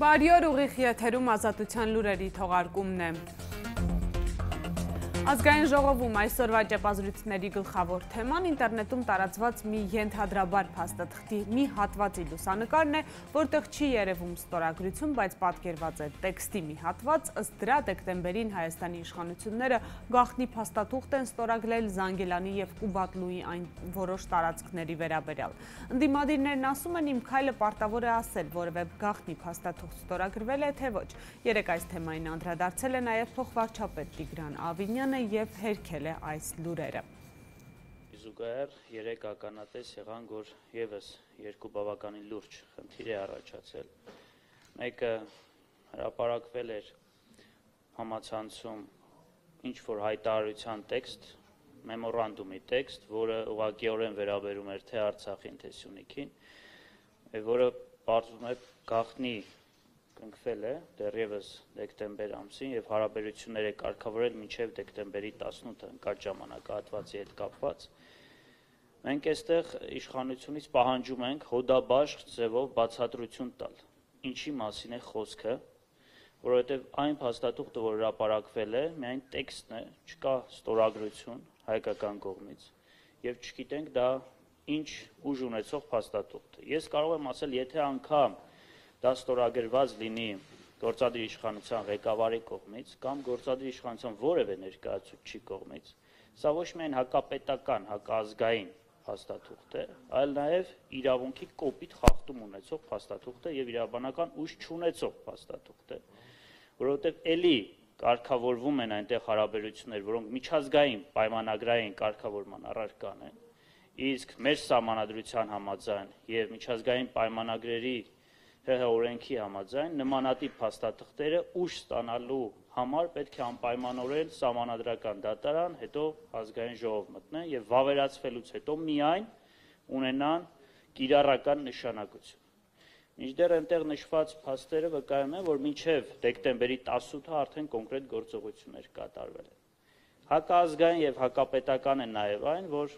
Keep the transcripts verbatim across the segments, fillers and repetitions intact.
Բարի օր, ուղիղ եթերում Ազատության լուրերի թողարկումն է։ Ազգային ժողովում այսօրվա ճեպազրույցների գլխավոր թեման ինտերնետում տարածված մի ենթադրաբար փաստաթղթի մի հատվածի լուսանկարն է, որտեղ չի երևում ստորագրություն, բայց պատկերված է տեքստի մի հատված, ըստ դրա դեկտեմբերին Հայաստանի իշխանությունները գաղտնի փաստաթուղթ են ստորագրել Զանգելանի և Կուբատլուի այն որոշ տարածքների վերաբերյալ։ Ընդդիմադիրներն ասում են, իմ քայլը պարտավոր է ասել, որևէ գաղտնի փաստաթուղթ ստորագրվել է, թե ոչ։ Երեկ այս թեմային անդրադարձել է նաև փոխվարչապետ Տիգրան Ավինյանը և հերքել է այս լուրերը։ Զուգահեռ երեք ականատես եղան, որ ևս երկու բավականին լուրջ խնդիր է առաջացել։ Մեկը հրապարակվել էր համացանցում ինչ-որ հայտարարության տեքստ, մեմորանդումի տեքստ, որը ուղղակիորեն վերաբերում էր թե Արցախին, թե Սյունիքին, որը պարզվում է գաղտնի կնքվել է դեռևս դեկտեմբեր ամսին և հարաբերություններ է կարգավորել մինչև դեկտեմբերի տասնութը ընկած ժամանակահատվածի հետ կապված։ Մենք այստեղ իշխանությունից պահանջում ենք հոդաբաշխ ձևով բացատրություն տալ, ինչի մասին է խոսքը, որովհետև այն փաստաթուղթը, որ հրապարակվել է, միայն տեքստն է, չկա ստորագրություն հայկական կողմից և չգիտենք դա ինչ ուժ ունեցող փաստաթուղթ է։ Ես կարող եմ ասել, եթե անգամ դա ստորագրված լինի գործադիր իշխանության ղեկավարի կողմից կամ գործադիր իշխանության որևէ ներկայացուցչի կողմից, սա ոչ միայն հակապետական, հակազգային փաստաթուղթ է, այլ նաև իրավունքի կոպիտ խախտում ունեցող փաստաթուղթ է և իրավաբանական ուժ չունեցող փաստաթուղթ է, որովհետև էլի կարգավորվում են այնտեղ հարաբերություններ, որոնք միջազգային պայմանագրային կարգավորման առարկան են, իսկ մեր սահմանադրության համաձայն և միջազգային պայմանագրերի ՀՀ օրենքի համաձայն նմանատիպ փաստաթղթերը ուժ ստանալու համար պետք է անպայմանորեն սահմանադրական դատարան, հետո ազգային ժողով մտնեն և վավերացվելուց հետո միայն ունենան կիրառական նշանակություն։ Մինչդեռ այնտեղ նշված փաստերը վկայում են, որ մինչև դեկտեմբերի տասնութը արդեն կոնկրետ գործողություններ կատարվել են։ Հակազգային և հակապետական են նաև այն, որ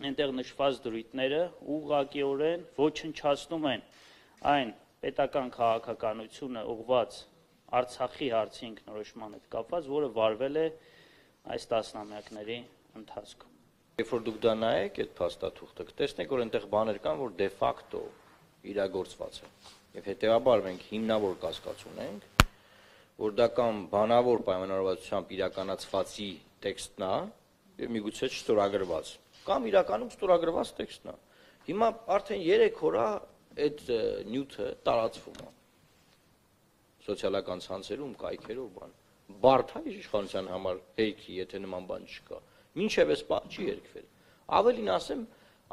այնտեղ նշված դրույթները ուղղակիորեն ոչնչացնում են այն պետական քաղաքականությունը ուղղված Արցախի հարցի ինքնորոշման հետ կապված, որը վարվել է այս տասնամյակների ընթացքում։ Երբ որ դուք դա նայեք այդ փաստաթուղթը, կտեսնեք, որ այնտեղ բաներ կան, որ դե ֆակտո իրագործված են։ Եվ հետեւաբար մենք հիմնավոր կասկած ունենք, որ դա կամ բանավոր պայմանավորվածությամբ իրականացվածի տեքստն է, եւ միգուցե չստորագրված, կամ իրականում ստորագրված տեքստն է։ Հիմա արդեն երեք օր է այդ նյութը տարածվում է սոցիալական ցանցերում, կայքերով, բան։ Բարդ է իշխանության համար հերքի, եթե նման բան չկա։ Մինչև այս բան չի հերքվել։ Ավելին ասեմ,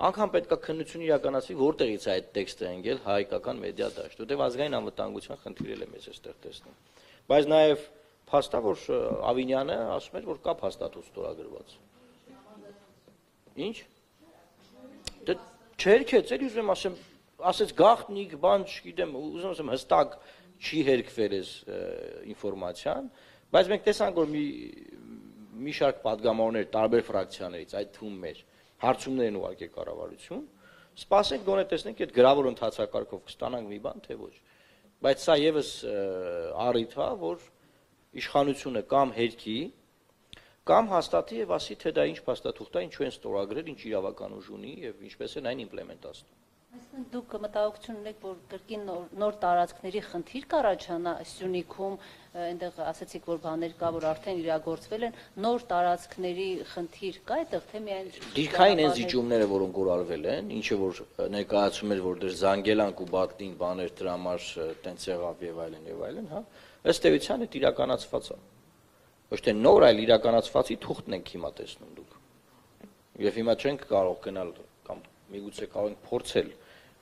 անգամ պետք է քննություն իրականացվի, որտեղից է այդ տեքստը ընկել հայկական մեդիա դաշտ, որտեղ ազգային անվտանգության խնդիրել է մեզ այստեղ տեսնում։ Բայց նաև փաստա, որ Ավինյանը ասում էր, որ կա փաստաթուղթ ստորագրված։ Ինչ։ Դե չհերքեց, էլի ուզում եմ ասեմ, ասեց գաղտնիք, բան չգիտեմ, ուզում ասեմ հստակ չի հերքվել այս ինֆորմացիան, բայց մենք տեսանք, որ մի մի շարք падգամավորներ տարբեր ֆրակցիաներից, այդ թվում մեր հարցումներ են ուղարկել կառավարություն, սպասենք գոնե տեսնենք այդ գրավոր ընթացակարգով կստանանք մի բան, թե ոչ։ Բայց սա եւս առիթ է, որ իշխանությունը կամ հերքի, կամ հաստատի եւ ասի, թե դա ինչ փաստաթուղթ է, ինչու են ստորագրել, ինչ իրավական ուժ ունի եւ ինչպես են այն իմպլեմենտացնում։ Այսինքն դուք մտահոգություն ունեք, որ կրկին նոր տարածքների խնդիր կառաջանա Սյունիքում, այնտեղ ասացիք, որ բաներ կա, որ արդեն իրագործվել են, նոր տարածքների խնդիր կա այդտեղ, թե միայն դիրքային են զիջումները, որոնք որ արվել են, ինչը որ ներկայացում էր, որ դեր Զանգելան ու Բատլին բաներ դրա համար տենց եղավ եւ այլն եւ այլն, հա, ըստ էության այդ իրականացված է։ Ոչ թե նոր, այլ իրականացվածի թուղթն ենք հիմա տեսնում դուք։ Եվ հիմա չենք կարող գնալ կամ միգուցե կարող ենք փորձել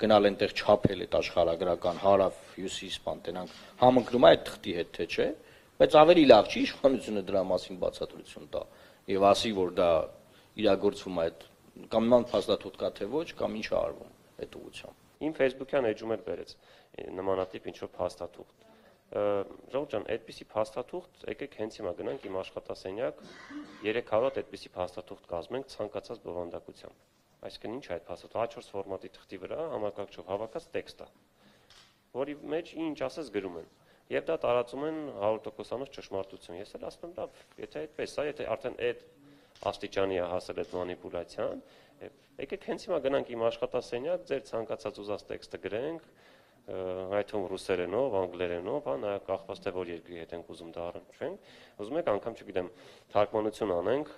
գնալ այնտեղ չափել այդ աշխարհագրական հարավ հյուսիս բան տենանք համընկնում է այդ թղթի հետ թե չէ, բայց ավելի լավ չի իշխանությունը դրա մասին բացատրություն տա եւ ասի, որ դա իրագործվում է այդ կամ նման փաստաթուղթ կա թե ոչ, կամ ինչ է արվում այդ ուղղությամբ։ Իմ Facebook-յան էջում էլ բերեց նմանատիպ ինչ-որ փաստաթուղթ։ Ժողովուրդ ջան, այդպիսի փաստաթուղթ, եկեք հենց հիմա գնանք իմ աշխատասենյակ, երեք հարյուր հատ այդպիսի փաստաթուղթ կազմենք ցանկացած բովանդակությամբ։ Այսինքն ինչ է այդ փաստաթուղթը, հա չորս ֆորմատի թղթի վրա համակարգչով հավաքած տեքստ է։ որի մեջ ինչ ասես գրում են։ Եվ դա տարածում են հարյուր տոկոսանոց ճշմարտություն։ Ես էլ ասում եմ, լավ, եթե այդպես է, եթե արդեն այդ աստիճանի է հասել այդ մանիպուլյացիան, եկեք հենց հիմա գնանք իմ աշխատասենյակ, ձեր ցանկացած ուզած տեքստը գրենք, այդ թվում ռուսերենով, անգլերենով, հա, նա կախված թե որ երկրի հետ ենք ուզում դա առնչվենք, ուզում եք անգամ, չգիտեմ, թարգմանություն անենք,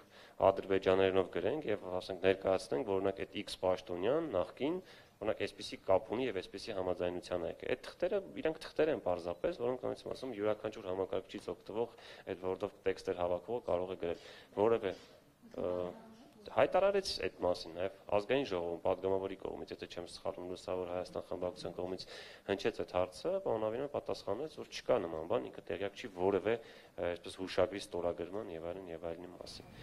ադրբեջաներենով գրենք եւ ասենք ներկայացնենք, որ օրինակ այդ X պաշտոնյան նախքին օրինակ այսպիսի կապ ունի եւ այսպիսի համաձայնության եք։ Այդ թղթերը իրանք թղթեր են պարզապես, որոնք ոնց եմ ասում, յուրաքանչյուր համակարգչից օգտվող այդ Word-ով տեքստեր հավաքող կարող է գրել, որովհետեւ հայտարարեց այդ մասին նաև ազգային ժողովում պատգամավորի կողմից, եթե չեմ սխալվում, Լուսավոր Հայաստան խմբակցության կողմից հնչեց այդ հարցը, պարոն Ավինյանը պատասխանեց, որ չկա նման բան, ինքը տեղյակ չի որևէ այսպես հուշագրի ստորագրման եւ այլն եւ այլնի մասին։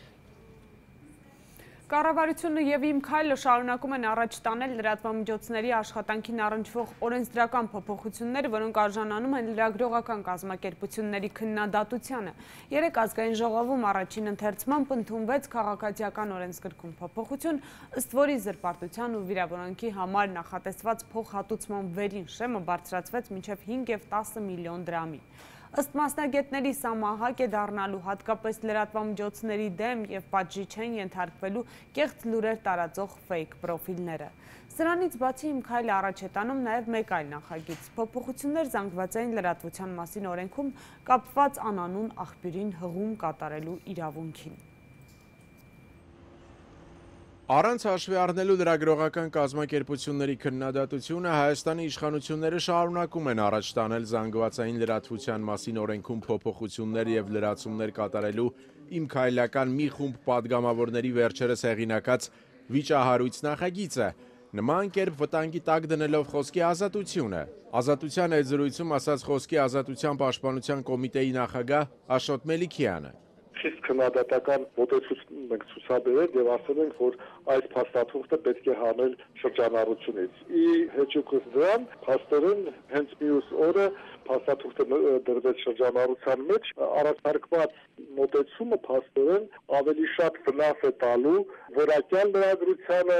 Կառավարությունը եւ Իմ քայլը շարունակում են առաջ տանել լրատվամիջոցների աշխատանքին առնչվող օրենսդրական փոփոխությունները, որոնք արժանանում են լրագրողական կազմակերպությունների քննադատությանը։ Երեկ ազգային ժողովում առաջին ընթերցմամբ ընդունվեց քաղաքացիական օրենսգրքում փոփոխություն, ըստ որի զրպարտության ու վիրավորանքի համար նախատեսված փոխհատուցման վերին շեմը բարձրացվեց մինչև հինգ եւ տասը միլիոն դրամի։ Ըստ մասնագետների սա մահակ է դառնալու հատկապես լրատվամիջոցների դեմ եւ պատժի չեն ենթարկվելու կեղծ լուրեր տարածող ֆեյք պրոֆիլները։ Սրանից բացի Իմ քայլը առաջ է տանում նաեւ մեկ այլ նախագիծ՝ փոփոխություններ զանգվածային լրատվության մասին օրենքում կապված անանուն աղբյուրին հղում կատարելու իրավունքին։ Առանց հաշվի առնելու լրագրողական կազմակերպությունների քննադատությունը Հայաստանի իշխանությունները շարունակում են առաջ տանել զանգվածային լրատվության մասին օրենքում փոփոխություններ եւ լրացումներ կատարելու Իմ քայլական մի խումբ падգամավորների վերջերս հեղինակած վիճահարույց նախագիծը, նման կերպ վտանգի տակ դնելով խոսքի ազատությունը։ Ազատության այդ զրույցում ասաց Խոսքի ազատության պաշտպանության կոմիտեի նախագահ Աշոտ Մելիքյանը։ Խիստ քննադատական մոտեցում ենք ցուցաբերել եւ ասել ենք, որ այս փաստաթուղթը պետք է հանել շրջանառությունից։ Ի հեճուկս դրան, փաստորեն հենց մյուս օրը փաստաթուղթը դրվեց շրջանառության մեջ, առաջարկված մոտեցումը փաստորեն ավելի շատ վնաս է տալու որակյալ լրագրությանը,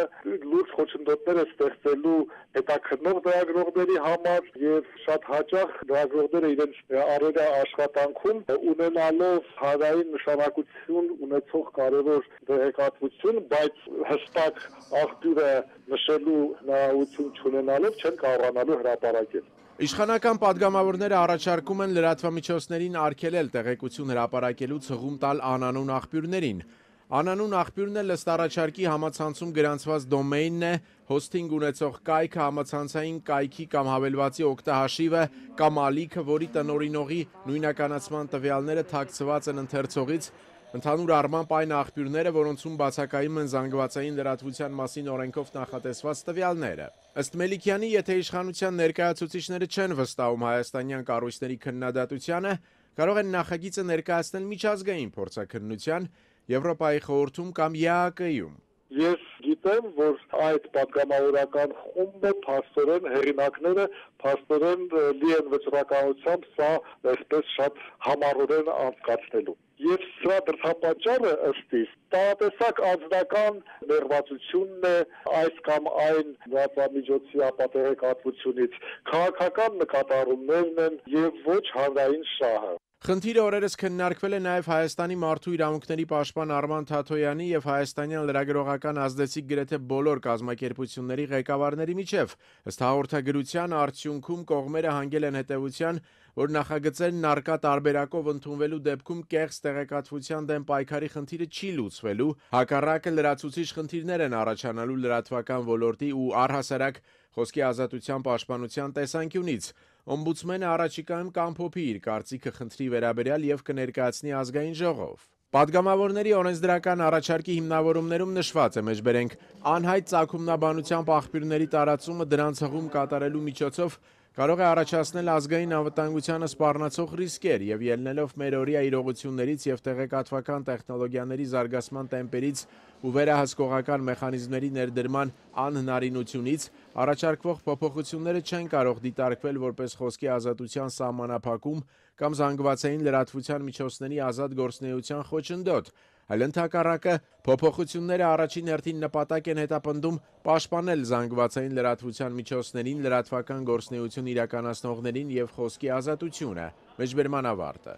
լուրջ խոչընդոտներ է ստեղծելու հետաքննող լրագրողների համար եւ շատ հաճախ լրագրողները իրենց առօրյա աշխատանքում ունենալով հանրային նշանակություն ունեցող կարևոր տեղեկատվություն, բայց հստակ աղբյուրը նշելու հնարավորություն չունենալով չեն կարողանալու հրապարակել։ Իշխանական падգամավորները առաջարկում են լրատվամիջոցներին արգելել տեղեկություն հրապարակելուց հղում տալ անանուն աղբյուրներին։ Անանուն աղբյուրն էլ ըստ առաջարկի համացանցում գրանցված դոմեյնն է, հոսթինգ ունեցող կայքը, համացանցային կայքի կամ հավելվածի օգտահաշիվը կամ ալիքը, որի տնօրինողի նույնականացման տվյալները թաքցված են ընթերցողից, ընդհանուր առմամբ այն աղբյուրները, որոնցում բացակայում են զանգվածային լրատվության մասին օրենքով նախատեսված տվյալները։ Ըստ Մելիքյանի, եթե իշխանության ներկայացուցիչները չեն վստահում հայաստանյան կառույցների քննադատությանը, կարող են նախագիծը ներկայացնել միջազգային փորձաքննության, Եվրոպայի խորհրդում կամ Ե Ա Կ-ում։ Ես գիտեմ, որ այդ պատգամավորական խումբը փաստորեն հեղինակները փաստորեն լի են վճռականությամբ սա այսպես շատ համառորեն անցկացնելու։ Եվ սրա դրդապատճառը ըստ իս տարատեսակ անձնական ներվածությունն է այս կամ այն լրատվամիջոցի ապատեղեկատվությունից, քաղաքական նկատառումներն են եւ ոչ հանրային շահը։ Խնդիրը օրերս քննարկվել է նաև Հայաստանի մարդու իրավունքների պաշտպան Արման Թաթոյանի եւ հայաստանյան լրագրողական ազդեցիկ գրեթե բոլոր կազմակերպությունների ղեկավարների միջև։ Ըստ հաղորդագրության արդյունքում կողմերը հանգել են հետևության, որ նախագծերն առկա տարբերակով ընդունվելու դեպքում կեղծ տեղեկատվության դեմ պայքարի խնդիրը չի լուծվելու, հակառակը լրացուցիչ խնդիրներ են առաջանալու լրատվական ոլորտի ու առհասարակ խոսքի ազատության պաշտպանության տեսանկյունից։ Օմբուդսմենը առաջիկայում կամփոփի իր կարծիքը խնդրի վերաբերյալ եւ կներկայացնի ազգային ժողով։ Պատգամավորների օրենսդրական առաջարկի հիմնավորումներում նշված է, մեջբերենք, անհայտ ծագումնաբանությամբ աղբյուրների տարածումը դրանց հղում կատարելու միջոցով կարող է առաջացնել ազգային անվտանգությանը սպառնացող ռիսկեր եւ ելնելով մեր օրյա իրողություններից եւ տեղեկատվական տեխնոլոգիաների զարգացման տեմպերից ու վերահսկողական մեխանիզմների ներդրման անհնարինությունից առաջարկվող փոփոխությունները չեն կարող դիտարկվել որպես խոսքի ազատության սահմանափակում կամ զանգվածային լրատվության միջոցների ազատ գործունեության խոչընդոտ, այլ ընդհակառակը փոփոխությունները առաջին հերթին նպատակ են հետապնդում պաշտպանել զանգվածային լրատվության միջոցներին, լրատվական գործունեություն իրականացնողներին եւ խոսքի ազատությունը։ Մեջբերման ավարտը։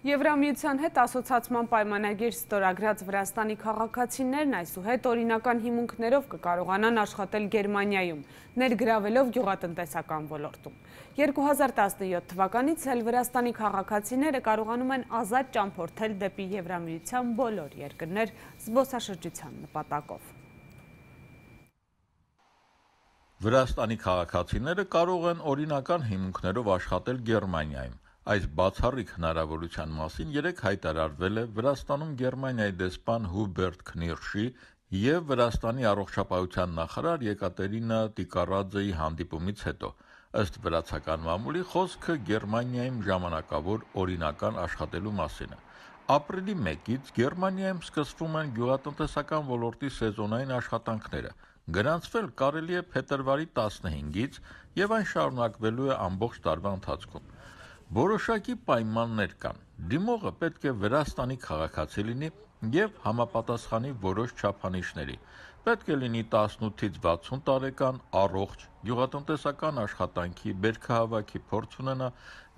Եվրամիության հետ ասոցացման պայմանագիր ստորագրած Վրաստանի քաղաքացիներն այսուհետ օրինական հիմունքներով կկարողանան աշխատել Գերմանիայում, ներգրավելով գյուղատնտեսական ոլորտում։ երկու հազար տասնյոթ թվականից էլ Վրաստանի քաղաքացիները կարողանում են ազատ ճամփորդել դեպի Եվրամիության բոլոր երկրներ զբոսաշրջության նպատակով։ Վրաստանի քաղաքացիները կարող են օրինական հիմունքներով աշխատել Գերմանիայում։ Այս բացառիկ հնարավորության մասին երեկ հայտարարվել է Վրաստանում Գերմանիայի դեսպան Հուբերտ Քնիրշի և Վրաստանի առողջապահության նախարար Եկատերինա Տիկարաձեի հանդիպումից հետո։ Ըստ վրացական մամուլի խոսքը Գերմանիայում ժամանակավոր օրինական աշխատելու մասին է։ Ապրիլի մեկից Գերմանիայում սկսվում են գյուղատնտեսական ոլորտի սեզոնային աշխատանքները։ Գրանցվել կարելի է փետրվարի տասնհինգից և այն շարունակվելու է ամբողջ տարվա ընթացքում։ Որոշակի պայմաններ կան։ Դիմողը պետք է Վրաստանի քաղաքացի լինի և համապատասխանի որոշ չափանիշների։ Պետք է լինի տասնութից վաթսուն տարեկան, առողջ, գյուղատնտեսական աշխատանքի, բերքահավաքի փորձ ունենա,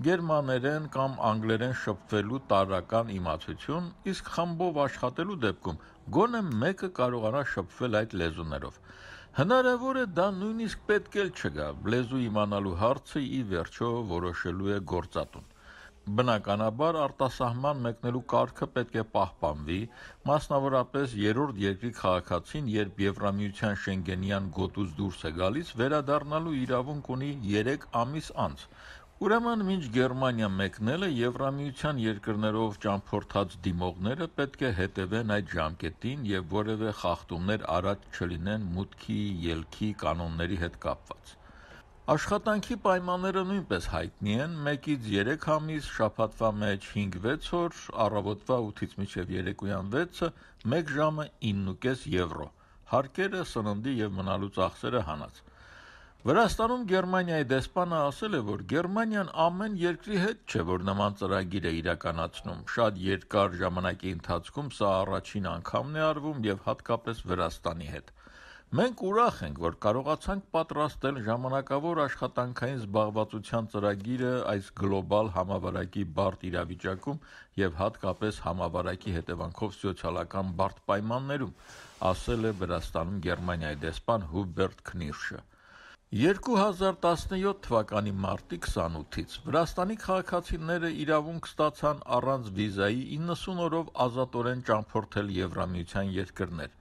գերմաներեն կամ անգլերեն շփվելու տարրական իմացություն, իսկ խմբով աշխատելու դեպքում գոնե մեկը կարողանա շփվել այդ լեզուներով։ Հնարավոր է դա նույնիսկ պետք էլ չգա, լեզու իմանալու հարցը ի վերջո որոշելու է գործատուն։ Բնականաբար արտասահման մեկնելու կարգը պետք է պահպանվի, մասնավորապես երրորդ երկրի քաղաքացին, երբ Եվրամիության Շենգենյան գոտուց դուրս է գալիս, վերադառնալու իրավունք ունի երեք ամիս անց։ Ուրեմն մինչ Գերմանիա մեկնելը Եվրամիության երկրներով ճամփորդած դիմողները պետք է հետևեն այդ ժամկետին և որևէ խախտումներ առաջ չլինեն մուտքի, ելքի կանոնների հետ կապված։ Աշխատանքի պայմանները նույնպես հայտնի են՝ մեկից երեք ամիս, շաբաթվա մեջ հինգ-վեց օր, առավոտվա ութից մինչև երեկոյան վեցը, մեկ ժամը իննուկես եվրո, հարկերը, սննդի և մնալու ծախսերը հանած։ Վրաստանում Գերմանիայի դեսպանը ասել է, որ Գերմանիան ամեն երկրի հետ չէ, որ նման ծրագիր է իրականացնում։ Շատ երկար ժամանակի ընթացքում սա առաջին անգամն է արվում և հատկապես Վրաստանի հետ։ Մենք ուրախ ենք, որ կարողացանք պատրաստել ժամանակավոր աշխատանքային զբաղվածության ծրագիրը այս գլոբալ համավարակի բարդ իրավիճակում և հատկապես համավարակի հետևանքով սոցիալական բարդ պայմաններում, ասել է Վրաստանում Գերմանիայի դեսպան Հուբերտ Քնիրշը։ երկու հազար տասնյոթ թվականի մարտի քսանութից Վրաստանի քաղաքացիները իրավունք ստացան առանց վիզայի իննսուն օրով ազատորեն ճամփորդել Եվրամիության երկրներ։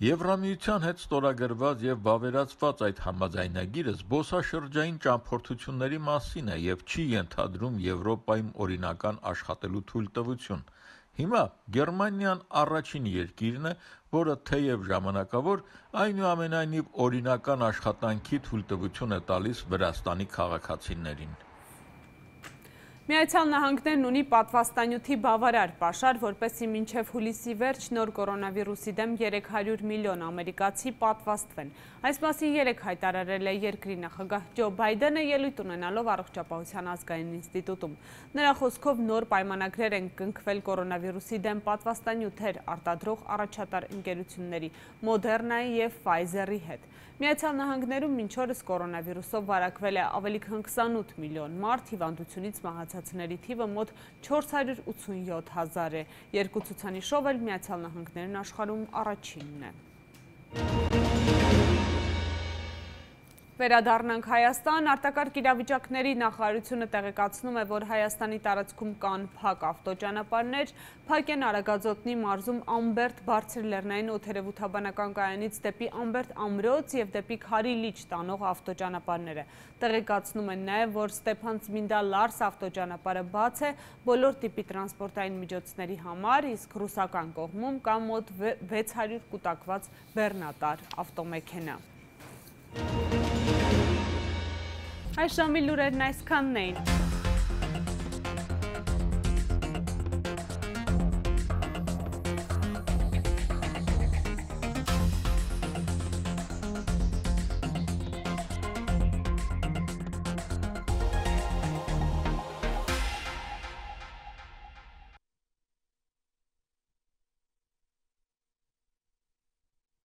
Եվրամիության հետ ստորագրված և վավերացված այդ համաձայնագիրը զբոսաշրջային ճամփորդությունների մասին է և չի ենթադրում Եվրոպայում օրինական աշխատելու թույլտվություն։ Հիմա Գերմանիան առաջին երկիրն է, որը թեև ժամանակավոր, այնուամենայնիվ օրինական աշխատանքի թույլտվություն է տալիս Վրաստանի քաղաքացիներին։ Միացյալ Նահանգներն ունի պատվաստանյութի բավարար պաշար, որպեսզի մինչև հուլիսի վերջ նոր կորոնավիրուսի դեմ երեք հարյուր միլիոն ամերիկացի պատվաստվեն։ Այս մասին երեկ հայտարարել է երկրի նախագահ Ջո Բայդենը ելույթ ունենալով Առողջապահության ազգային ինստիտուտում։ Նրա խոսքով նոր պայմանագրեր են կնքվել կորոնավիրուսի դեմ պատվաստանյութեր արտադրող առաջատար ընկերությունների Մոդեռնայի և Ֆայզերի հետ։ Միացյալ Նահանգներում մինչ օրս կորոնավիրուսով վարակվել է ավելի քան քսանութ միլիոն մարդ, հիվանդությունից մահացածների թիվը մոտ չորս հարյուր ութսունյոթ հազար է։ Երկու ցուցանիշով էլ Միացյալ Նահանգներն աշխարհում առաջինն է։ Վերադառնանք Հայաստան, արտակարգ իրավիճակների նախարարությունը տեղեկացնում է, որ Հայաստանի տարածքում կան փակ ավտոճանապարհներ, փակ են Արագածոտնի մարզում Ամբերդ բարձր լեռնային օդերևութաբանական կայանից դեպի Ամբերդ ամրոց և դեպի Քարի լիճ տանող ավտոճանապարհները։ Տեղեկացնում են նաև, որ Ստեփան-Ծմինդա Լարս ավտոճանապարհը բաց է բոլոր տիպի տրանսպորտային միջոցների համար, իսկ ռուսական կողմում կա մոտ վեց հարյուր կուտակված բեռնատար ավտոմեքենա։ Այս ժամի լուրերն այսքանն էին։